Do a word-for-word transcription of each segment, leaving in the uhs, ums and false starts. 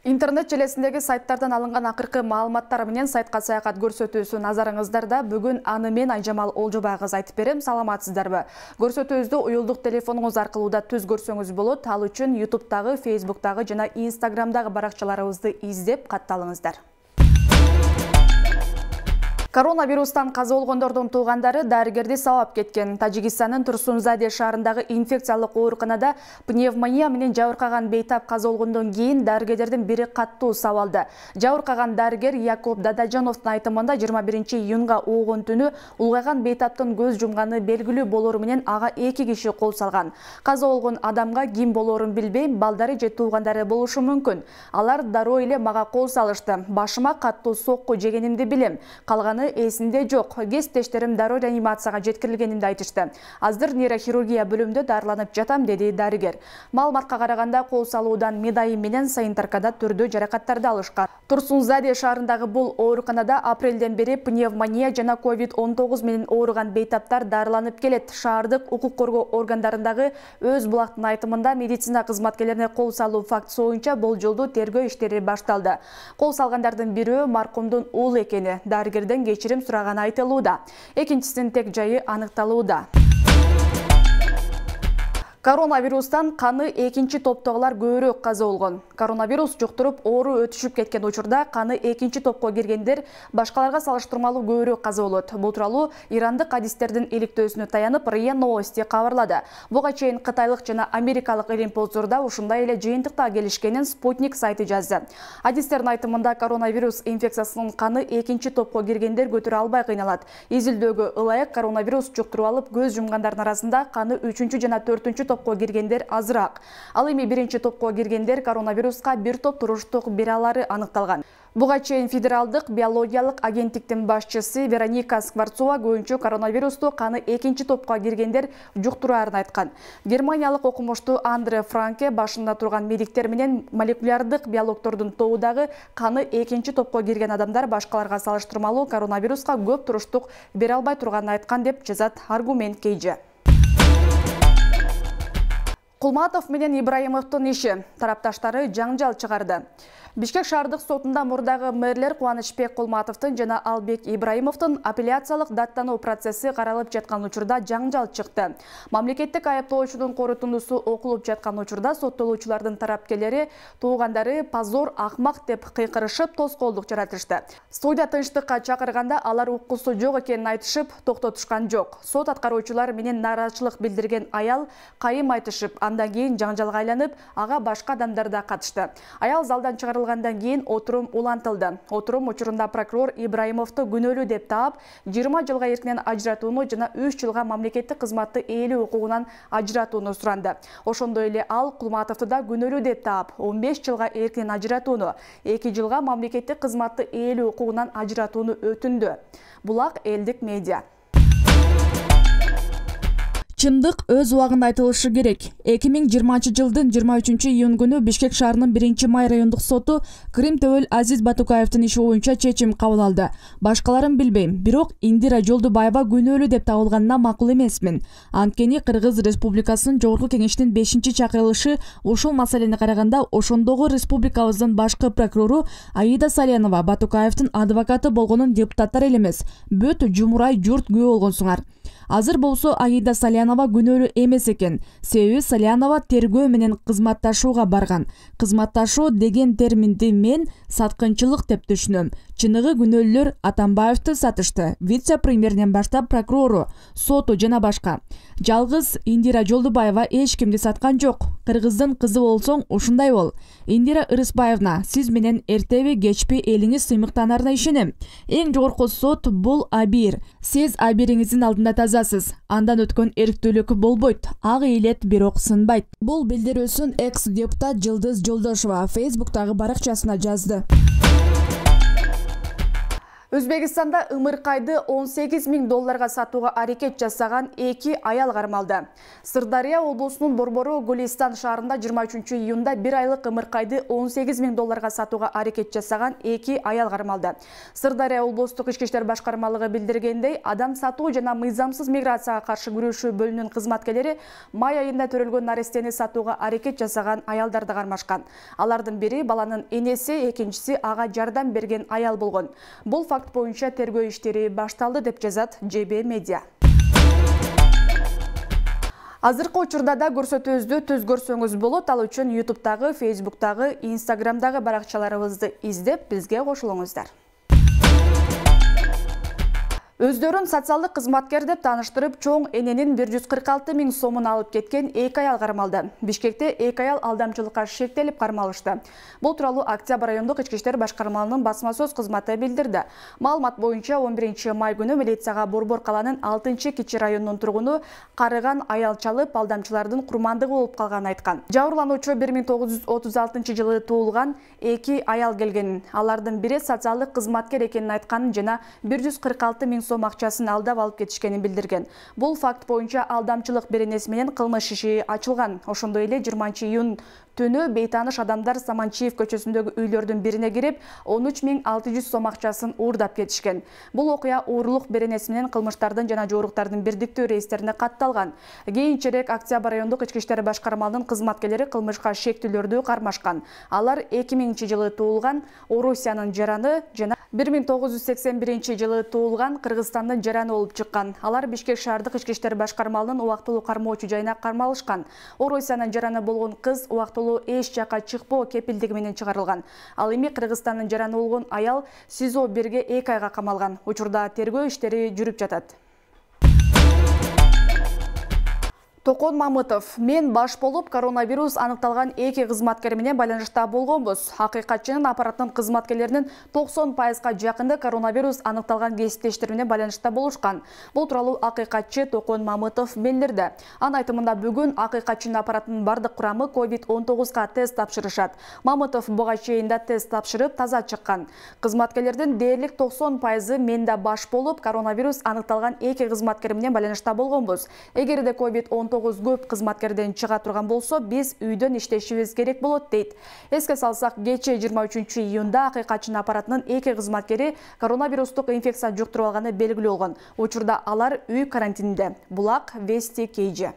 Интернет желесиндеги сайттардан алынган акыркы маалыматтар менен сайтка саякат көрсөтүүсү назарыңыздарда. Бүгүн аны мен Айжамал Олжобай кыз айтып берем. Саламатсыздарбы? Көрсөтүүбүздү уюлдук телефонуңуз аркылуу да түз көрсөңүз болот. Ал үчүн ютубтагы, фейсбуктагы жана инстаграмдагы баракчаларыбызды издеп катталыңыздар. Коронавирустан каза болгондордун туугандары дарыгерди сабап кеткен. Тажикстандын Турсунзаде шаарындагы инфекциялык ооруканада пневмония менен жабыркаган бейтап каза болгондон кийин дарыгерлердин бири каттуу сабалды. Жабыркаган дарыгер Якуб Дадажановдун айтымында жыйырма биринчи июнга оогун түнү улгайган бейтаптын көз жумганы белгилүү болору менен ага эки киши кол салган. Каза болгон адамга ким болоорун билбейм, балдары же туугандары болушу мүмкүн. Алар дароо эле мага кол салышты. Башыма каттуу сокку жегенимди билем. Калганы эсинде жок. Кесиптештерим дароо реанимацияга жеткирилгенимди айтышты. Азыр нейрохирургия бөлүмүндө дарыланып жатам, деди дарыгер. Маалыматка караганда кол салуудан медайым менен санитаркада түрдүү жаракаттарды алышкан. Турсунзаде шаарындагы бул ооруканада апрелден бери пневмония жана ковид он тогуз менен ооруган бейтаптар дарыланып келет. Шаардык укук коргоо органдарындагы Өз Булактын айтымында медицина кызматкерлерине кол салуу фактысы боюнча болжолдуу тергөө иштери башталды. Кол салгандардын бирөө маркумдун уулу экени, дарыгерден кечирим сураганы айтылууда. Экинчисинин тек жайы аныкталууда. Коронавирустан каны экинчи топтогулар көбүрөөк каза болгон. Коронавирус жуктуруп оору өтүшүп кеткен учурда каны экинчи топко киргендер башкаларга салыштырмалуу көбүрөөк каза болот. Бул тууралуу ирандык адистердин иликтөөсүнө таянып РИА Новости кабарлады. Буга чейин кытайлык жана америкалык илимпоздорда ушундай эле жыйынтыкта келишкенин Спутник сайты жазды. Адистердин айтымында коронавирус инфекциясынын каны экинчи топко киргендер көтөрө албай кыйналат. Изилдөөгө ылайык коронавирус жуктуруп алып көз жумгандардын арасында каны үчүнчү жана төртүнчү топко киргендер азыраак. Ал эми биринчи топко киргендер коронавируска бир топ туруштук бере алары аныкталган. Буга чейин Федералдык биологиялык агенттиктин башчысы Вероника Скворцова көбүнчө коронавирусту каны экинчи топко киргендер жуктураарын айткан. Германиялык окумуштуу Андре Франке башында турган медиктер менен молекулярдык биологдордун тобудагы каны экинчи топко кирген адамдар башкаларга салыштырмалуу коронавируска көп туруштук бере албай турганын айткан деп жазат Аргумент Кейже. Кулматов менен Ибраимовдун иши тарапташтары жаңжал чыгарды. Бишкек шаардык сотунда мурдагы мэрлер Кубанычбек Кулматовдун жана Албек Ибраимовдун апелляциялык даттануу процесси каралып жаткан учурда жаңжал чыкты. Мамлекеттик айыптоочунун корутундусу окулуп жаткан учурда соттолуучулардын тарапкерлери туугандары позор, акмак деп кыйкырышып тоскоолдук жаратышты. Студия тынчтыкка чакырганда алар уккусу жок экенин айтышып токтотушкан жок. Сот аткаруучулар менен нааразычылык билдирген аял кайым айтышып, андан кийин жаңжалга айланып, ага башка адамдар да катышты. Аял залдан чыгарылгандан кийин отурум улантылды. Отурум учурунда прокурор Ибраимовду күнөөлүү деп таап, жыйырма жылга эркинен ажыратууну жана үч жылга мамлекеттик кызматты ээлөө укугунан ажыратууну суранды. Ошондой эле ал Кулматовду да күнөөлүү деп таап, он беш жылга эркинен ажыратууну, эки жылга мамлекеттик кызматты ээлөө укугунан ажыратууну өтүндү. Булак элдик медиа. Чындык өз убагында айтылышы керек. эки миң жыйырманчы жылдын жыйырма үчүнчү июнь күнү Бишкек шаарынын биринчи май райондук соту Кырым Төбөл Азиз Батукаевдин иши боюнча чечим кабыл алды. Башкаларын билбейм, бирок Индира Жолдубаева күнөөлүү деп табылганына макул эмесмин. Анткени Кыргыз Республикасынын Жогорку Кеңештин бешинчи чакырылышы ушул маселени караганда ошондогу республикабыздын башкы прокурору Аида Салянова Батукаевдин адвокаты болгонун депутаттар эле эмес, бүт жумурай журт күбө болгонсуңар. Азыр болсо Аида Салянова күнөөлүү эмес экен. Себеби Салянова тергөө менен кызматташууга барган. Кызматташуу деген терминди мен саткынчылык деп түшүнөм. Чыныгы күнөөлөлөр Атамбаевди сатышты. Вице-премьерден баштап прокурору, соту жана башка. Жалгыз Индира Жолдубаева эч кимди саткан жок. Кыргыздын кызы болсоң ушундай бол. Индира Ырысбаевна, сиз менен эртеби кечпи элиңиз сыймыктанарына ишенем. Эң жогорку сот бул абийир. Сиз абийириңиздин алдында тазасыз. Андан өткөн эрктүүлүк болбойт. Ак ийилет, бирок сынбайт. Бул билдирүүсүн экс-депутат Жылдыз Жолдошова Фейсбуктагы баракчасына жазды. Өзбекстанда ымыркайды он сегиз миң долларга сатууга аракет жасаган эки аял кармалды. Сырдария облусунун Борбору Гулистан шаарында жыйырма үчүнчү июнда бир айлык ымыркайды он сегиз миң долларга сатууга аракет жасаган эки аял кармалды. Сырдария облустук ички иштер башкармалыгы билдиргендей, адам сатуу жана мыйзамсыз миграцияга каршы күрөшүү бөлүмүнүн кызматкерлери май айында төрөлгөн нарестени сатууга аракет жасаган аялдарды кармашкан. Алардын бири баланын энеси, экинчиси ага жардам берген аял болгон. Бул факт боюнча тергөө иштери башталды деп жазат Ж Б Медиа. Азыркы учурда да көрсөтүүбүздү түз көрсөңүз болот. Ал үчүн ютубтагы, фейсбуктагы, инстаграмдагы баракчаларыбызды издеп, бизге кошулуңуздар. Өздөрүн социалдык кызматкер деп тааныштырып, чоң эненин бир жүз кырк алты миң сомун алып кеткен эки аял кармалды. Бишкекте эки аял алдамчылыкка шектелип кармалышты. Бул тууралуу Октябрь райондук ички иштер башкармалыгынын басма сөз кызматы билдирди. Маалымат боюнча он биринчи май күнү милицияга Борбор каланын алтынчы кичи районунун тургуну карыган аял чалып, алдамчылардын курмандыгы болуп калганын айткан. Жабырлануучу бир миң тогуз жүз отуз алтынчы жылы туулган эки аял келгенин, алардын бири социалдык кызматкер экенин айтканын жана бир жүз кырк алты миң сом акчасын алдап алып кетишкенин билдирген. Бул факт боюнча алдамчылык беренеси менен кылмыш иши ачылган. Ошондой эле жыйырманчы июнь түнү бейтааныш адамдар Саманчиев көчөсүндөгү үйлөрдүн бирине кирип, он үч миң алты жүз сом акчасын уурдап кетишкен. Бул окуя уурулук беренеси менен кылмыштардын жана жоруктардын бирдиктүү рейстерине катталган. Кийинчерээк Октябрь райондук ички иштер башкармалыгынын кызматкерлери кылмышка шектүүлөрдү кармашкан. Алар эки миңинчи жылы туулган Орусиянын жараны жана бир миң тогуз жүз сексен биринчи жылы туулган Кыргызстандын жараны болуп чыккан. Алар Бишкек шаардык ички иштер башкармалыгынын убактылуу кармоочу жайына кармалышкан. Орусиянын жараны болгон кыз убактылуу эч жака чыкпоо кепилдиги менен чыгарылган. Ал эми Кыргызстандын жараны болгон аял СИЗО бирге эки айга камалган. Учурда тергөө иштери жүрүп жатат. Токон Мамытов: мен баш болуп коронавирус аныкталган эки кызматкер менен байланышта болгонбуз. Акыйкатчынын аппараттын кызматкерлеринин токсон пайызга жакыны коронавирус аныкталган кесиптештер менен байланышта болушкан. Бул тууралуу акыйкатчы Токон Мамытов билдирди. Анын айтымында бүгүн акыйкатчынын аппараттын бардык курамы ковид он тогузга тест тапшырышат. Мамытов буга чейин да тест тапшырып таза чыккан. Кызматкерлердин дээрлик токсон пайызы мен да баш болуп коронавирус аныкталган эки кызматкер менен байланышта болгонбуз. Эгерде ковид он тогуз көп кызматкерден чыга турган болсо, биз үйдөн иштешибиз керек болот дейт. Эске салсак, кечээ жыйырма үчүнчү июнда акыйкатчынын аппаратынын эки кызматкери коронавирустук инфекция жуктуруп алганы белгилүү болгон. Учурда алар үй карантининде. Булак Вести Кейджи.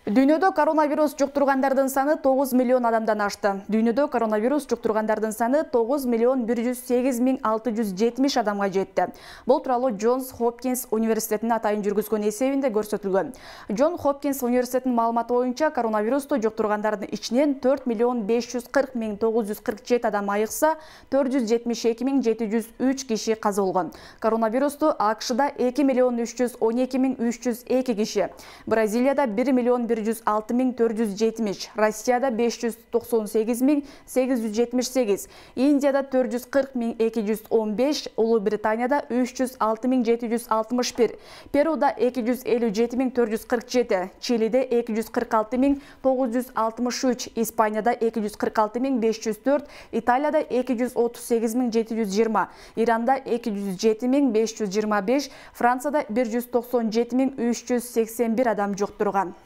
Дүйнөдө коронавирус жуктургандардын саны тогуз миллион адамдан ашты. Дүйнөдө коронавирус жуктургандардын саны тогуз миллион бир жүз сегиз миң алты жүз жетимиш адамга жетти. Бул тууралуу Джонс Хопкинс университетинин атайын жүргүзгөн эсебинде көрсөтүлгөн. Джон Хопкинс университетинин маалыматы боюнча коронавирусту жуктургандардын ичинен төрт миллион беш жүз кырк миң тогуз жүз кырк жети адам айыкса, төрт жүз жетимиш эки миң жети жүз үч киши каза болгон. Коронавирусту АКШда эки миллион үч жүз он эки миң үч жүз эки киши, Бразилияда бир миллион бир жүз алты миң төрт жүз жетимиш, Россияда беш жүз токсон сегиз миң сегиз жүз жетимиш сегиз, Индияда төрт жүз кырк миң эки жүз он беш, Улуу Британияда үч жүз алты миң жети жүз алтымыш бир, Перуда эки жүз элүү жети миң төрт жүз кырк жети, Чилиде эки жүз кырк алты миң тогуз жүз алтымыш үч, Испанияда эки жүз кырк алты миң беш жүз төрт, Италияда эки жүз отуз сегиз миң жети жүз жыйырма, Иранда эки жүз жети миң беш жүз жыйырма беш, Францияда бир жүз токсон жети миң үч жүз сексен бир адам жуктурган.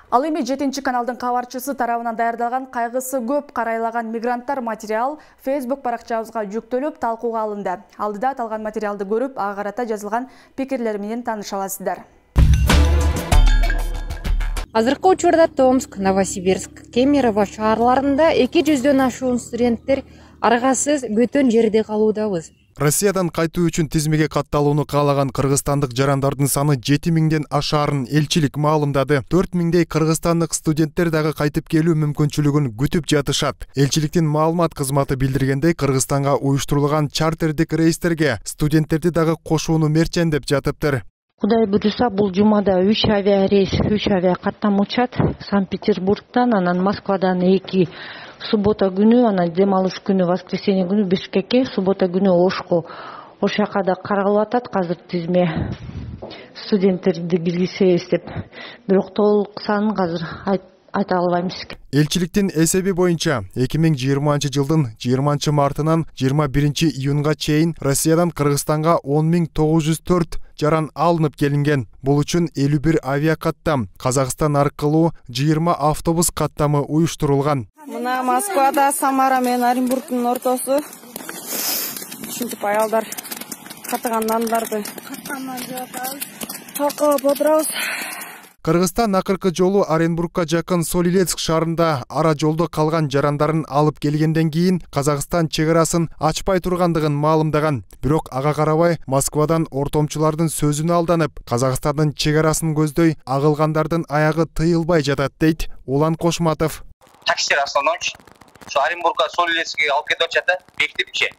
Ал эми жетинчи каналдын кабарчысы тарабынан даярдалган кайгысы көп карайлаган мигранттар материал Facebook баракчабызга жүктөлүп талкууга алынды. Алдыда аталган материалды көрүп, ага карата жазылган пикирлер менен тааныша аласыздар. Азыркы учурда Томск, Новосибирск, Кемерово шаарларында эки жүздөн ашуун студенттер аргасыз бөтөн жерде калуудабыз. Россиядан кайтуу үчүн тизмеге катталууну каалаган кыргызстандык жарандардын саны жети миңден ашаарын элчилик маалымдады. төрт миңдей кыргызстандык студенттер дагы кайтып келүү мүмкүнчүлүгүн күтүп жатышат. Элчиликтин маалымат кызматы билдиргендей, Кыргызстанга уюштурулган чартердик рейстерге студенттерди дагы кошууну мерчендеп жатыптыр. Кудай буюрса, бул жумада үч авиарейс, үч авиа каттам учат. Санкт-Петербургдан, анан Москвадан эки, суббота күнү, анан дем алыш күнү, воскресенье күнү Бишкекке, суббота күнү Ошко. Ош жака да каралып атат азыр тизме студенттерди киргизебиз деп. Бирок толук санын азыр айта албайбыз. Элчиликтин эсеби боюнча эки миң жыйырманчы жылдын жыйырманчы мартынан жыйырма биринчи июнга чейин Россиядан Кыргызстанга он миң тогуз жүз төрт жаран алынып келинген. Бул үчүн элүү бир авиакаттам, Казакстан аркылуу жыйырма автобус каттамы уюштурулган. Мына Москвада Самара менен Оренбургдун ортосу. Ушинтип аялдар каттаган нандарды каттаман жеп атабыз. Такап отурабыз. Кыргызстан акыркы жолу Оренбургка жакын Солилецк шаарында ара жолдо калган жарандарын алып келгенден кийин Казакстан чек арасын ачпай тургандыгын маалымдаган. Бирок ага карабай Москвадан ортомчулардын сөзүнө алданып, Казакстандын чек арасын көздөй агылгандардын аягы тыйылбай жатат дейт Улан Кошматов. Таксилер основном şu Оренбургка Солилецкке алып кетип атышат да, бекитипчи.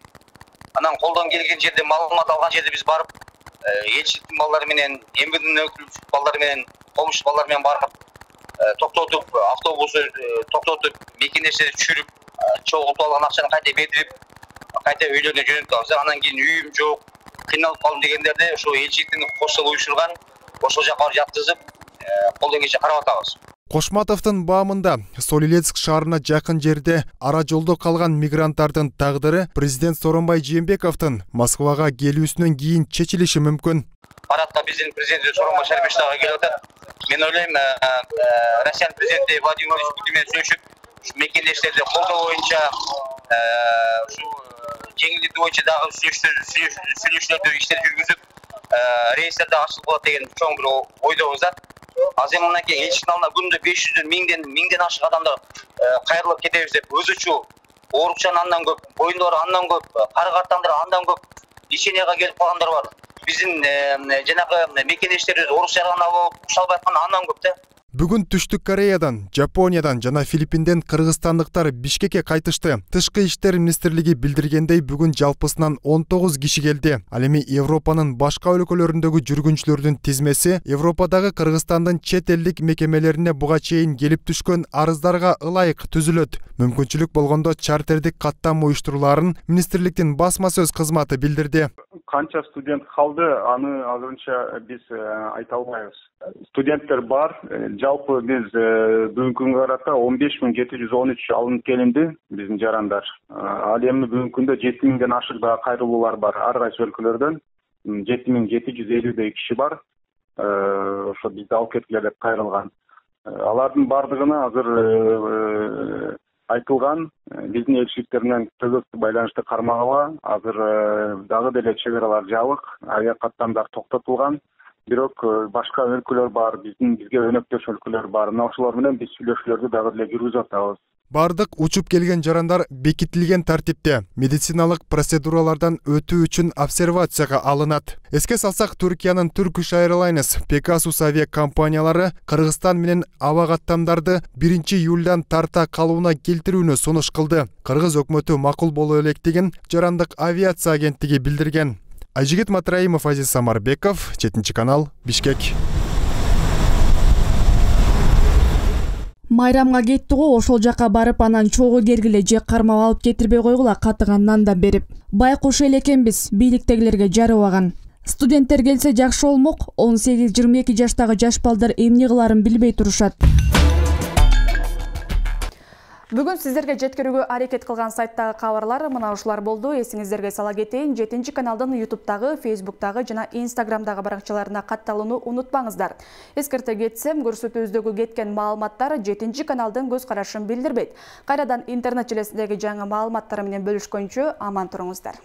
Анан колдон келген жерде маалымат алган жерде биз барып, элчиликтин балдары менен, эмбидин өкүлчү балдары менен, комуш балдар менен барып, токтотуп, автобусу токтотуп, мекенештерди түшүрүп, чогултуп алган акчаны кайта бердирип, кайта үйлөрүнө жөнөтүп, анан кийин үйүм жок, кыйналып калдым дегендерди ошо элчиликтин кошсо уюшурган, ошол жака барып жаткызып, колдон келишинче карап атабыз. Кошматовдун баамында Солилецк шаарына жакын жерде ара жолдо калган мигранттардын тагдыры президент Сооронбай Жээнбековдун Москвага келүүсүнөн кийин чечилиши мүмкүн. Парадка биздин президент Сооронбай Шарипович дагы келип атат. Мен ойлойм, Россиянын президенти Владимир Владимирович Путин менен сүйлөшүп, мекендештерди колдоо боюнча, ушу жеңилдетүү боюнча дагы сүйлөшүүлөрдү иштер жүргүзүп, рейстер дагы ачылып калат деген чоң бир ойдобуз да. Азыр мынакей элчиликтин алдына күндө беш жүздөн, миңден, миңден ашык адамдар кайрылып кетебиз деп, өзүчү оорукчан андан көп, боюндары андан көп, кары картаңдар андан көп, леченияга келип калгандар бар. Биздин жанагы мекендештерибиз орук жаргана болуп, уша албай аткан андан көп да. Бүгүн Түштүк Кореядан, Жапониядан жана Филиппинден кыргызстандыктар Бишкекке кайтышты. Тышкы иштер министрлиги билдиргендей, бүгүн жалпысынан он тогуз киши келди. Ал эми Европанын башка өлкөлөрүндөгү жүргүнчүлөрдүн тизмеси Европадагы Кыргызстандын чет элдик мекемелерине буга чейин келип түшкөн арыздарга ылайык түзүлөт. Мүмкүнчүлүк болгондо чартердик каттам уюштурулаарын министрликтин басма сөз кызматы билдирди. Канча студент калды, аны азырынча биз айта албайбыз. Студенттер бар. Жалпы биз бүгүнкү күнгө карата он беш миң жети жүз он үч алынып келинди биздин жарандар. Ал эми бүгүнкү күндө жети миңден ашык да кайрылуулар бар ар кайсы өлкөлөрдөн. жети миң жети жүз элүүдөй киши бар. Ошо бизди алып кеткиле деп кайрылган. Алардын бардыгына азыр айтылган, биздин элчиликтер менен тыгыз байланышты кармагыла. Азыр дагы деле чек аралар жабык, авиакаттамдар токтотулган. Бирок башка өлкөлөр бар, биздин бизге өнөктөш өлкөлөр бар. Мына ошолор менен биз сүйлөшүүлөрдү дагы деле жүргүзүп атабыз. Бардык учуп келген жарандар бекитилген тартипте медициналык процедуралардан өтүү үчүн обсервацияга алынат. Эске салсак, Түркиянын Turkish Airlines, Pegasus авиа компаниялары Кыргызстан менен аба каттамдарды биринчи июлдан тарта калууна келтирүүнү сунуш кылды. Кыргыз өкмөтү макул боло электигин Жарандык авиация агенттиги билдирген. Айжигит Матраимов, Азиз Самарбеков, жетинчи канал, Бишкек. Майрамга кетти го, ошол жака барып, анан чогуу кергиле же кармап алып кетирбей койгула каттаган нанда берип. Байкуш эле экенбиз, бийликтегилерге жарыбаган. Студенттер келсе жакшы болмок, он сегиз жыйырма эки жаштагы жаш балдар эмне кыларын билбей турушат. Бүгүн сиздерге жеткирүүгө аракет кылган сайттагы кабарлар мына ушулар болду. Эсиңиздерге сала кетейин, жетинчи каналдын ютубтагы, фейсбуктагы жана инстаграмдагы баракчаларына катталууну унутпаңыздар. Эскерте кетсем, көрсөтүүбүздөгү кеткен маалыматтар жетинчи каналдын көз карашын билдирбейт. Кайрадан интернет желесиндеги жаңы маалыматтар менен бөлүшкөнчө аман туруңуздар.